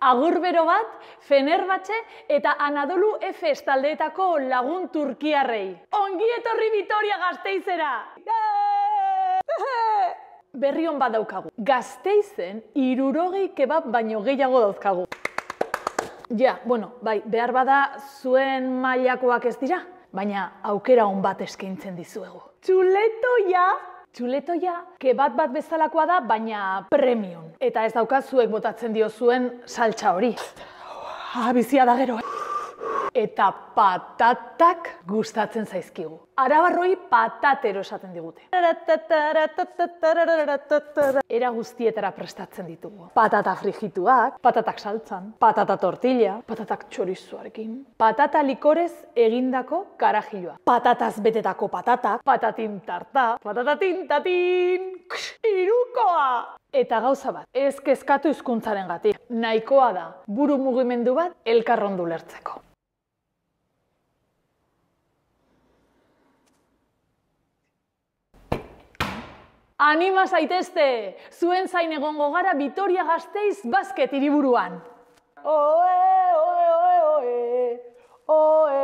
Agur bero bat, Fenerbahce eta Anadolu Efes taldeetako lagun turkiarrei. Ongi etorri Vitoria-Gasteizera! Berri on bat daukagu. Gasteizen 60 kebab baino gehiago dauzkagu. Ja, bueno, bai, behar bada zuen mailakoak ez dira, baina aukera on bat eskaintzen dizuegu. Txuletoia! Txuletoia, kebab bat bezalakoa da, baina premium. Eta ez daukazuek botatzen diozuen saltsa hori. Bizia da gero. Eta patatak gustatzen zaizkigu. Arabarroi patatero esaten digute. Era guztietara prestatzen ditugu. Patata frigituak, patatak saltzan, patata tortilla, patatak txorizuarekin, patata likorez egindako karajilloa, patataz betetako patatak, patatin tarta, patatatin tatin, irukoa! Eta gauza bat, ez kezkatu hizkuntzarengatik. Nahikoa da buru mugimendu bat elkarrondu lertzeko. Anima zaitezte! Zuen zain egongo gara Vitoria-Gasteiz basket hiriburuan. Oe, oe, oe, oe, oe.